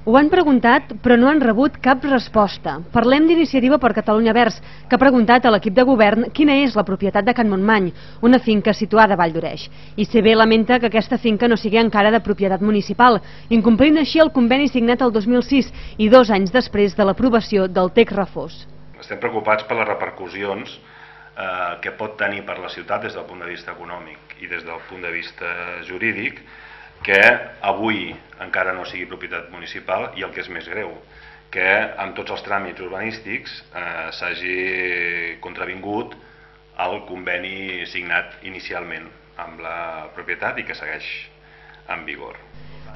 Ho han preguntat, però no han rebut cap resposta. Parlem d'Iniciativa per Catalunya Verds, que ha preguntat a l'equip de govern quina és la propietat de Can Montmany, una finca situada a Vall d'Oreix. ICB lamenta que aquesta finca no sigui encara de propietat municipal, incomplint així el conveni signat el 2006 i 2 anys després de l'aprovació del text refós. Estem preocupats per les repercussions que pot tenir per la ciutat des del punt de vista econòmic i des del punt de vista jurídic, que avui encara no sigui propietat municipal i el que és més greu, que amb tots els tràmits urbanístics s'hagi contravingut el conveni signat inicialment amb la propietat i que segueix en vigor.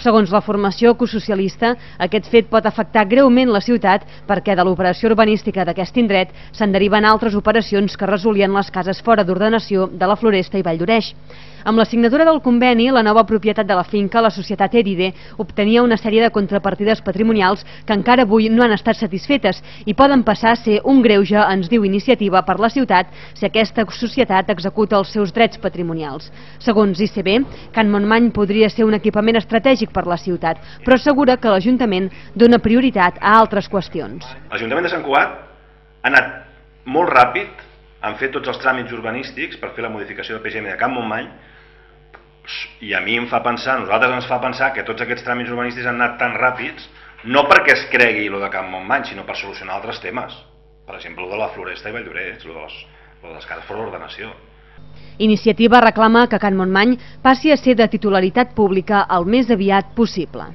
Segons la formació ecosocialista, aquest fet pot afectar greument la ciutat perquè de l'operació urbanística d'aquest indret se'n deriven altres operacions que resolien les cases fora d'ordenació de la Floresta i Vall d'Oreix. Amb la signatura del conveni, la nova propietat de la finca, la societat Eride, obtenia una sèrie de contrapartides patrimonials que encara avui no han estat satisfetes i poden passar a ser un greuge, ens diu Iniciativa per la ciutat, si aquesta societat executa els seus drets patrimonials. Segons ICB, Can Montmany podria ser un equipament estratègic per la ciutat, però assegura que l'Ajuntament dona prioritat a altres qüestions. L'Ajuntament de Sant Cugat ha anat molt ràpid, han fet tots els tràmits urbanístics per fer la modificació del PGM de Can Montmany, i a mi em fa pensar, a nosaltres ens fa pensar que tots aquests tràmits urbanístics han anat tan ràpids, no perquè es cregui lo de Can Montmany, sinó per solucionar altres temes. Per exemple, lo de la Floresta i Vall d'Oreix, lo de les cases fora d'ordenació. Iniciativa reclama que Can Montmany passi a ser de titularitat pública el més aviat possible.